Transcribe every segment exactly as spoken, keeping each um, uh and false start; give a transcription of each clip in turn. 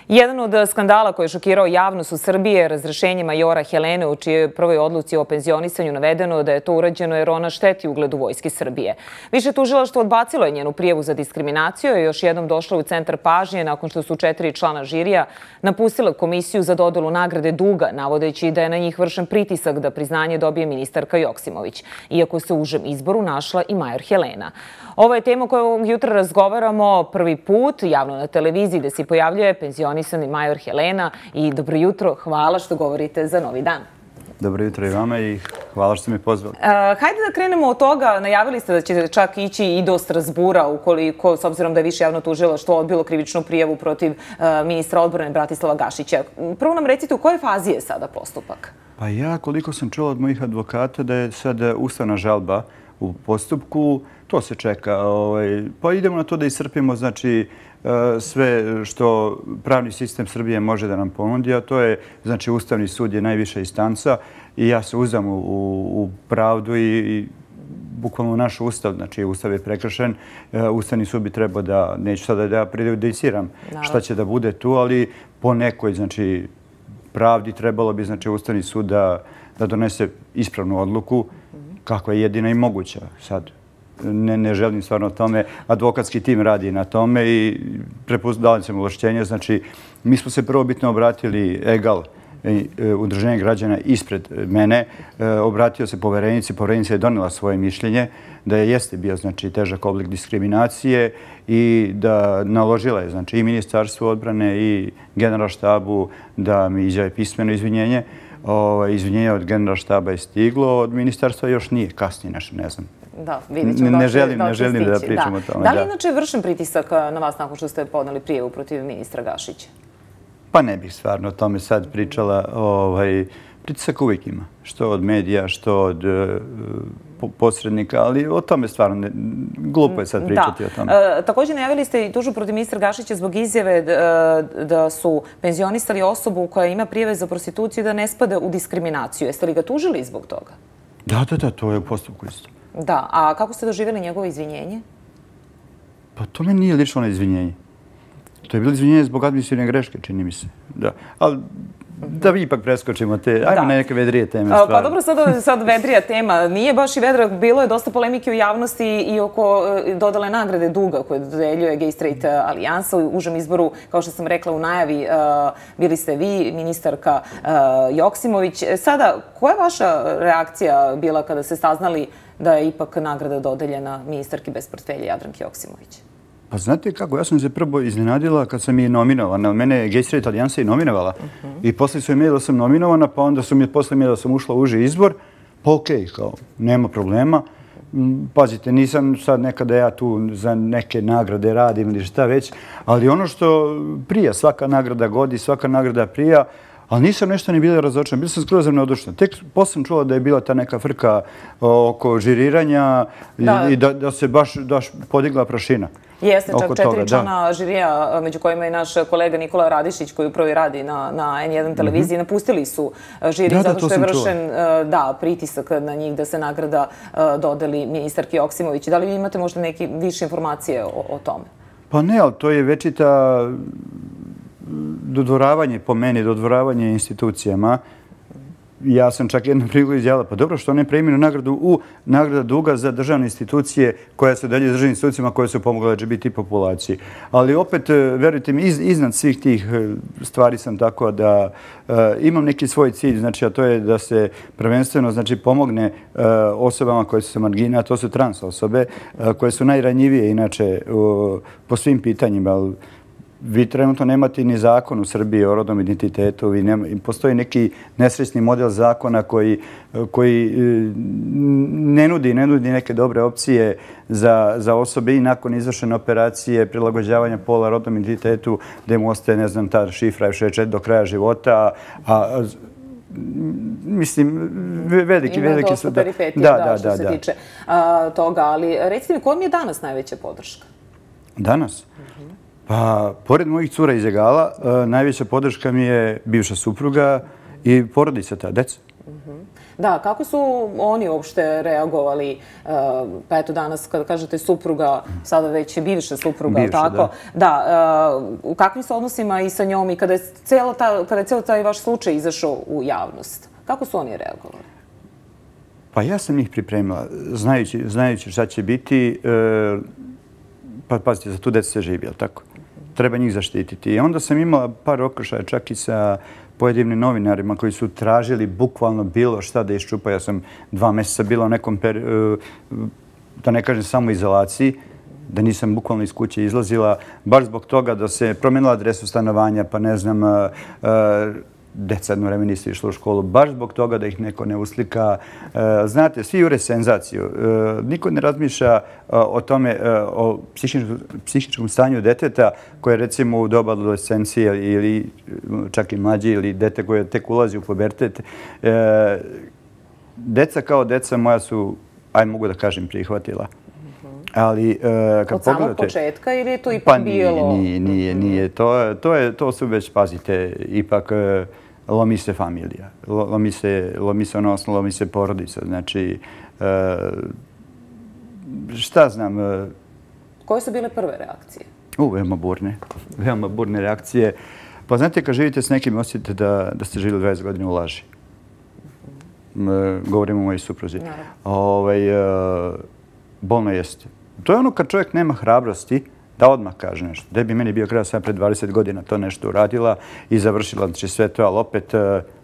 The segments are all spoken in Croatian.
Jedan od skandala koji je šokirao javnost u Srbiji je razrešenje majora Helene, u čijoj prvoj odluci o penzionisanju navedeno da je to urađeno jer ona šteti ugledu Vojske Srbije. Više tužilaštvo odbacilo je njenu prijavu za diskriminaciju i još jednom došla u centar pažnje nakon što su četiri člana žirija napustila komisiju za dodelu nagrade duga, navodeći da je na njih vršen pritisak da priznanje dobije ministarka Joksimović, iako se u užem izboru našla i major Helena. Ovo je tema koju ovog jutra razgovaramo prvi put javno na televiziji gde se pojavljuje penzionisani major Helena. I dobro jutro, hvala što govorite za Novi dan. Dobro jutro i vama i hvala što ste me pozvali. Hajde da krenemo od toga. Najavili ste da ćete čak ići i do Strazbura, ukoliko, s obzirom da je više javno tužilaštvo odbilo krivičnu prijavu protiv ministra odbrane Bratislava Gašića. Prvo nam recite u kojoj fazi je sada postupak? Pa ja, koliko sam čuo od mojih advokata, da je sad ustavna žalba u postupku. To se čeka. Pa idemo na to da iscrpimo, znači, sve što pravni sistem Srbije može da nam ponudi, a to je, znači, Ustavni sud je najviša instanca i ja se uzdam u pravdu i bukvalno naš ustav, znači ustav je prekršen. Ustavni sud bi trebao da, neću sada da ja prejudiciram šta će da bude tu, ali po nekoj, znači, pravdi trebalo bi, znači, Ustavni sud da donese ispravnu odluku kakva je jedina i moguća sad. Ne želim stvarno o tome. Advokatski tim radi na tome i dali sam ovlašćenje. Znači, mi smo se prvobitno obratili Egal, udruženje građana ispred mene. Obratio se poverenici. Poverenica je donela svoje mišljenje da je jeste bio, znači, težak oblik diskriminacije i da naložila je, znači, i Ministarstvu odbrane i Generalštabu da mi izjave pismeno izvinjenje. Izvinjenje od Generalštaba je stiglo, od Ministarstva još nije, kasnije nešto, ne znam. Da, vidjet ćemo ne želim, ne želim da pričam o tome. Da li inače vršen pritisak na vas nakon što ste podneli prijavu protiv ministra Gašića? Pa ne bih stvarno o tome sad pričala. Pritisak uvijek ima. Što od medija, što od posrednika, ali o tome stvarno glupo je sad pričati o tome. Također najavili ste i tužbu protiv ministra Gašića zbog izjave da su penzionisali osobu koja ima prijave za prostituciju da ne spada u diskriminaciju. Jeste li ga tužili zbog toga? Da, da, da, to je u postupku isto. Da, a kako ste doživjeli njegovo izvinjenje? Pa to meni nije lično na izvinjenje. To je bilo izvinjenje zbog administrativne greške, čini mi se. Da, ali da vi ipak preskočimo te, ajmo na neke vedrije teme. Pa dobro, sad vedrija tema. Nije baš i vedra, bilo je dosta polemike u javnosti i oko dodale nagrade duga koje dodeljuje Gay Straight alijansa. U užem izboru, kao što sam rekla u najavi, bili ste vi, ministarka Joksimović. Sada, koja je vaša reakcija bila kada ste saznali da je ipak nagrada dodeljena ministarki bez portfelja Jadranki Joksimović? Pa znate kako, ja sam se prvo iznenadila kad sam je nominovana. Mene je Gay Straight alijansa i nominovala. I posle su imeli da sam nominovana, pa onda su mi posle imeli da sam ušla u uži izbor. Pa okej, kao, nema problema. Pazite, nisam sad nekada ja tu za neke nagrade radim ili šta već, ali ono što prija, svaka nagrada godi, svaka nagrada prija, ali nisam nešto ni bila razočarana. Bila sam skroz neodušna. Tek posle sam čula da je bila ta neka frka oko žiriranja i da se baš podigla prašina. Jeste, čak četiri člana žirija, među kojima je naš kolega Nikola Radišić, koji upravo i radi na en jedan televiziji, napustili su žiri zato što je vršen pritisak na njih da se nagrada dodeli ministarki Joksimović. Da li vi imate možda neke više informacije o tome? Pa ne, ali to je večita dodvoravanje po meni, dodvoravanje institucijama. Ja sam čak jednom priliku izjavila, pa dobro, što ne preimenu nagradu u nagrada duga za državne institucije koja se dalje državnim institucijama koje su pomogle L G B T populaciji. Ali opet, verujte mi, iznad svih tih stvari sam tako da imam neki svoj cilj, znači, a to je da se prvenstveno, znači, pomogne osobama koje su sa margina, a to su trans osobe, koje su najranjivije, inače, po svim pitanjima. Vi trenutno nemate ni zakon u Srbiji o rodnom identitetu. Postoji neki nesrećni model zakona koji ne nudi neke dobre opcije za osobe i nakon izvršene operacije prilagođavanja pola rodnom identitetu gde mu ostaje, ne znam, ta šifra F šezdeset četiri do kraja života. Mislim, veliki, veliki su... Ima dosta peripetija što se tiče toga, ali recite mi, koja mi je danas najveća podrška? Danas? Pa, pored mojih cura iz Egala, najveća podrška mi je bivša supruga i porodica ta, deca. Da, kako su oni uopšte reagovali? Pa eto danas, kada kažete supruga, sada već je bivša supruga, Bivša, tako? da. Da, u kakvim se odnosima i sa njom i kada je cijelo taj vaš slučaj izašao u javnost? Kako su oni reagovali? Pa ja sam njih pripremila, znajući šta će biti. Pa pazite, za tu decu se živi, jel tako? Treba njih zaštititi. I onda sam imala par okršaja čak i sa pojedinim novinarima koji su tražili bukvalno bilo šta da iščupa. Ja sam dva mjeseca bila u nekom, da ne kažem, samoizolaciji, da nisam bukvalno iz kuće izlazila, baš zbog toga da se promenila adresu stanovanja, pa ne znam, deca jedno vreme nisu išla u školu, baš zbog toga da ih neko ne uslika. Znate, svi jure senzaciju. Niko ne razmišlja o tome, o psihičkom stanju deteta koje recimo u doba adolescencije ili čak i mlađi ili dete koje tek ulazi u pubertet. Deca kao deca moja su, aj mogu da kažem, prihvatila. Ali, od samog početka ili je to ipak bilo? Pa nije, nije, nije. To su već, pazite, ipak lomi se familija. Lomi se, lomi se odnosno, lomi se porodica. Znači, šta znam? Koje su bile prve reakcije? U, veoma burne. Veoma burne reakcije. Pa znate, kad živite s nekim, osjetite da ste živjeli dvadeset godina u laži. Govorimo o mojoj supruzi. Bolno jeste. To je ono kad čovjek nema hrabrosti da odmah kaže nešto. Gde bi meni bio kraj sam pred dvadeset godina to nešto uradila i završila znači sve to, ali opet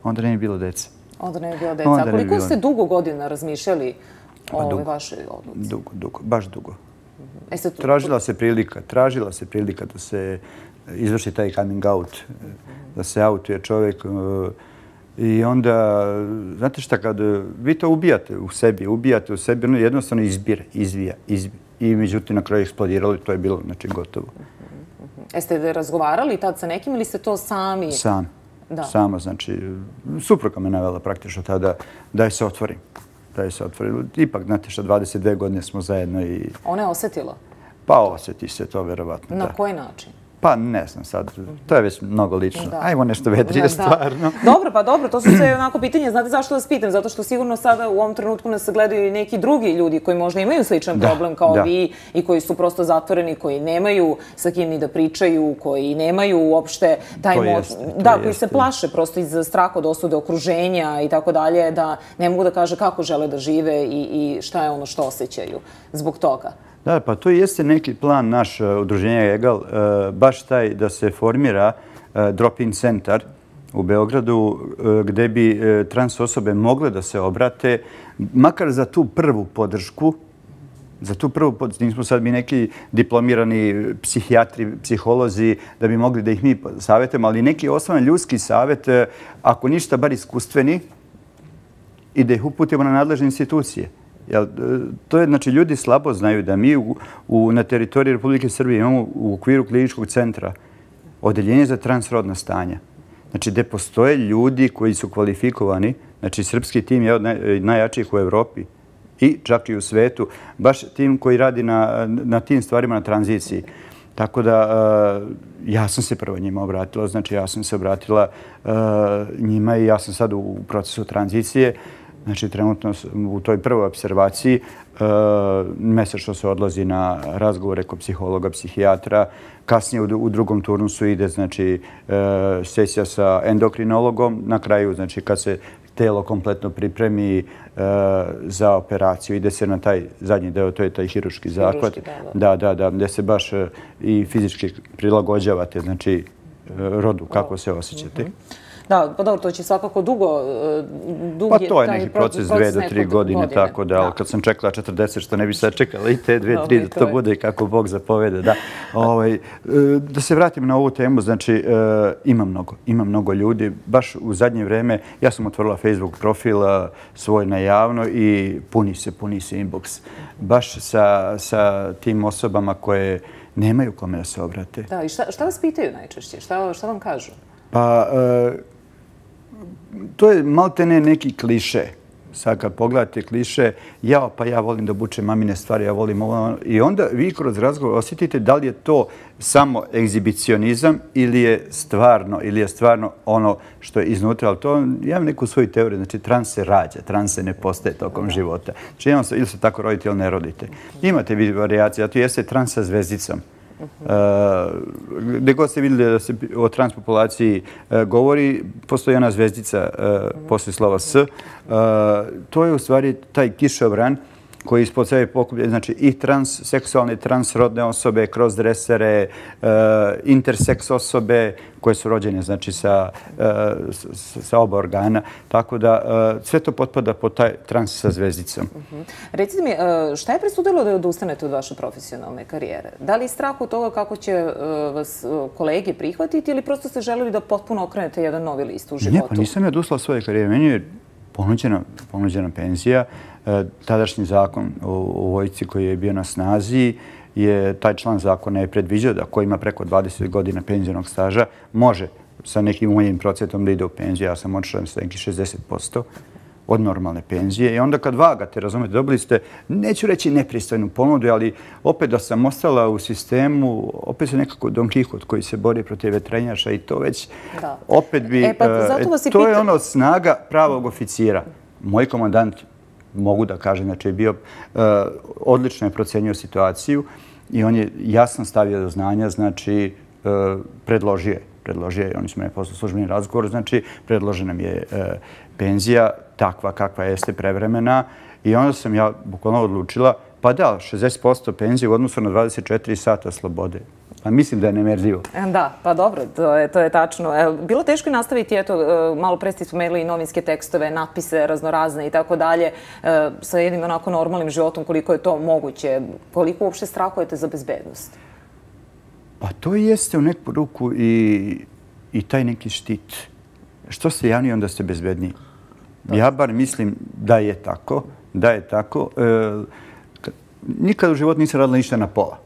onda ne bi bilo deca. Onda ne bi bilo deca. A koliko ste dugo godina razmišljali o ovoj vašoj odluci? Dugo, dugo, baš dugo. Tražila se prilika, tražila se prilika da se izvrši taj coming out, da se autuje čovjek. I onda, znate šta, kad vi to ubijate u sebi, ubijate u sebi, ono jednostavno izbira, izvija, izvija. I međutim na kraju eksplodiralo i to je bilo, znači, gotovo. Jeste razgovarali tad sa nekim ili ste to sami? Sam. Sama, znači, supruga me navela praktično tada da je se otvorim. Da je se otvorim. Ipak, znate šta, dvadeset dve godine smo zajedno i... Ona je osjetila? Pa osjeti se to, verovatno, da. Na koji način? Pa ne znam sad, to je već mnogo lično. Ajmo nešto vedrije stvarno. Dobro, pa dobro, to su sve onako pitanje. Znate zašto vas pitam? Zato što sigurno sada u ovom trenutku nas gledaju i neki drugi ljudi koji možda imaju sličan problem kao vi i koji su prosto zatvoreni, koji nemaju sa kim ni da pričaju, koji nemaju uopšte taj moć. Da, koji se plaše prosto iz straha od osude okruženja i tako dalje, da ne mogu da kaže kako žele da žive i šta je ono što osjećaju zbog toga. Da, pa to jeste neki plan naš udruženja Egal, baš taj da se formira drop-in centar u Beogradu gde bi trans osobe mogle da se obrate, makar za tu prvu podršku, za tu prvu podršku, nismo sad mi neki diplomirani psihijatri, psiholozi, da bi mogli da ih mi savjetujemo, ali neki osnovan ljudski savjet, ako ništa, bar iskustveni, i da ih uputimo na nadležne institucije. To je, znači, ljudi slabo znaju da mi na teritoriji Republike Srbije imamo u okviru kliničkog centra odeljenje za transrodna stanja. Znači, gde postoje ljudi koji su kvalifikovani, znači, srpski tim je od najjačijih u Evropi i čak i u svetu, baš tim koji radi na tim stvarima na tranziciji. Tako da, ja sam se prvo njima obratila, znači, ja sam se obratila njima i ja sam sad u procesu tranzicije. Znači, trenutno u toj prvoj observaciji mesečno se odlazi na razgovore kod psihologa, psihijatra. Kasnije u drugom turnusu ide, znači, sesija sa endokrinologom. Na kraju, znači, kad se telo kompletno pripremi za operaciju, ide se na taj zadnji deo, to je taj hiruški zahvat. Da, da, da, gde se baš i fizički prilagođavate, znači, rodu, kako se osjećate. Da, pa dobro, to će svakako dugo... Pa to je neki proces dve do tri godine, tako da, kad sam čekala četrdeset, što ne bi sad čekala i te dve, tri, da to bude kako Bog zapovede, da. Da se vratim na ovu temu, znači, ima mnogo, ima mnogo ljudi. Baš u zadnje vreme, ja sam otvorila Facebook profil svoj na javno i puni se, puni se inbox. Baš sa tim osobama koje nemaju kome da se obrate. Da, i šta vas pitaju najčešće? Šta vam kažu? Pa... To je maltene neki kliše. sad kad pogledate kliše, ja pa ja volim da obučem mamine stvari, ja volim ovo. I onda vi kroz razgovor osjetite da li je to samo egzibicionizam ili je stvarno, ili je stvarno ono što je iznutra. Ali to, ja imam neku svoju teoriju, znači trans se rađa, trans se ne postaje tokom života. Znači jednostavno, ili se tako rodite ili ne rodite. Imate vi varijacije, zato jeste trans sa zvezdicom. Gde god ste vidjeli da se o transpopulaciji govori, postoji ona zvezdica posle slova S. To je u stvari taj kišobran koji ispod sebe pokuplja, znači i transseksualne, transrodne osobe, kroz dresere, interseks osobe koje su rođene znači sa, sa oba organa. Tako da sve to potpada pod taj trans sa zvezdicom. Recite mi, šta je presudilo da odustanete od vaše profesionalne karijere? Da li je strah od toga kako će vas kolege prihvatiti ili prosto ste želeli da potpuno okrenete jedan novi list u životu? Ne, pa nisam ja odustala od svoje karijere. Meni je ponuđena, ponuđena penzija. Tadašnji zakon o vojsci koji je bio na snazi je, taj član zakona je predviđao da ko ima preko dvadeset godina penzionog staža može sa nekim mojim procentom da ide u penziju. Ja sam otišao sa nekih šezdeset posto od normalne penzije. I onda kad vagate, razumete, dobili ste, neću reći nepristojnu ponudu, ali opet da sam ostala u sistemu, opet se nekako Don Kihot koji se bori protiv vetrenjača i to već opet bi... To je ono snaga pravog oficira. Moj komandant, mogu da kažem, znači je bio odlično je procenio situaciju i on je jasno stavio do znanja, znači predložio je, predložio je, oni su mene poslali službeni razgovor, znači predložena mi je penzija takva kakva jeste prevremena i onda sam ja bukvalno odlučila, pa da, šezdeset posto penzije u odnosu na dvadeset četiri sata slobode. Pa mislim da je nemerljivo. Da, pa dobro, to je, to je tačno. Bilo teško i nastaviti, eto, malo pre ste spomenuli i novinske tekstove, natpise raznorazne i tako dalje, sa jednim onako normalnim životom, koliko je to moguće, koliko uopšte strahujete za bezbednost? Pa to jeste u neku ruku i, i taj neki štit. Što ste javni, onda ste bezbedniji. Ja bar mislim da je tako, da je tako. E, nikad u životu nisam radila ništa na pola.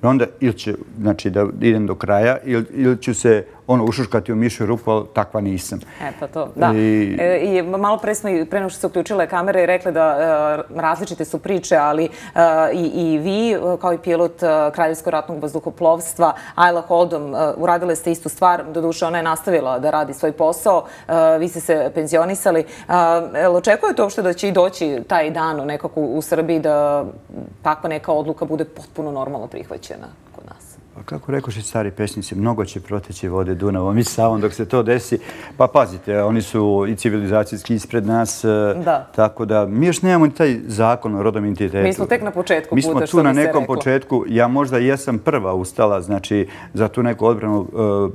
Onda ili ću, znači, da idem do kraja ili, ili ću se ono ušuškati u mišju rupu, ali takva nisam. E, pa to, da. I, e, i malo pre smo, pre nego što se uključile kamere, rekli da e, različite su priče, ali e, i, i vi, kao i pilot e, Kraljevskog ratnog vazduhoplovstva, Ayla Holdom, e, uradile ste istu stvar. Doduše, ona je nastavila da radi svoj posao. E, vi ste se penzionisali. E, očekujete uopšte da će i doći taj dan nekako u Srbiji da takva neka odluka bude potpuno normalno prihvaćena kod nas? Pa kako rekoše stari pesnici, mnogo će proteći vode Dunavom i Savom dok se to desi. Pa pazite, oni su i civilizacijski ispred nas, da. Tako da mi još nemamo ni taj zakon o rodnom identitetu. Mi smo tek na početku puta, što bi se reklo. Mi smo tu na nekom početku. Ja možda jesam prva ustala, znači, za tu neku odbranu uh,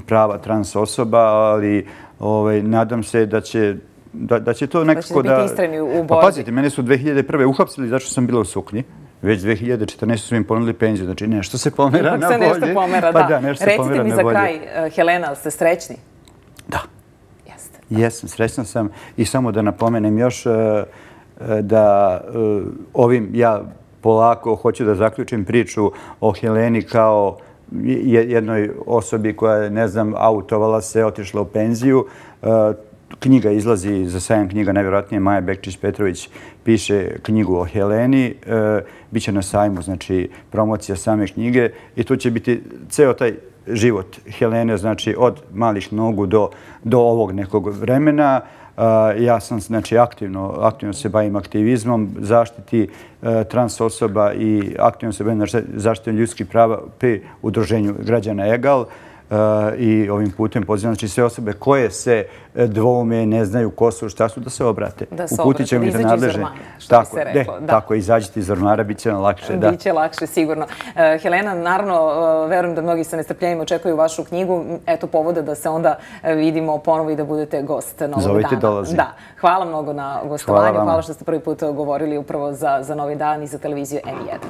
prava trans osoba, ali ovaj, nadam se da će da, da će to nekako da... Da ćete biti istrajni u borbi. Pa pazite, mene su dve hiljade prve uhapsili zato što sam bila u suknji. Već dve hiljade četrnaeste su im ponudili penziju. Znači, nešto se pomera na bolje. Ipak se nešto pomera, pa da. da nešto Recite pomera mi na za bolje. kraj, Helena, ste srećni? Da. Jeste. Jesam, srećna sam. I samo da napomenem još uh, da uh, ovim ja polako hoću da zaključim priču o Heleni kao jednoj osobi koja je, ne znam, autovala se, otišla u penziju. Uh, Knjiga izlazi za sajam knjiga, najvjerojatnije Maja Bekčić-Petrović piše knjigu o Heleni. E, Biće na sajmu, znači promocija same knjige i tu će biti ceo taj život Helene, znači od malih nogu do, do ovog nekog vremena. E, ja sam znači aktivno, aktivno se bavim aktivizmom, zaštiti e, trans osoba i aktivno se bavim zaštitom ljudskih prava pri udruženju građana Egal. I ovim putem pozivam znači sve osobe koje se dvoume, ne znaju ko su, šta su, da se obrate. Da se obrate, da izađu iz ormara, što tako, bi se reklo. De, tako, izađite iz ormara, bit će nam lakše. Da. Biće lakše, sigurno. Uh, Helena, naravno, uh, verujem da mnogi sa nestrpljenjem očekuju vašu knjigu. Eto povoda da se onda vidimo ponovo i da budete gost Novog Zovite, dana. dolazim. Da. Hvala mnogo na gostovanju. Hvala, Hvala što ste prvi put govorili upravo za, za Novi dan i za televiziju N jedan.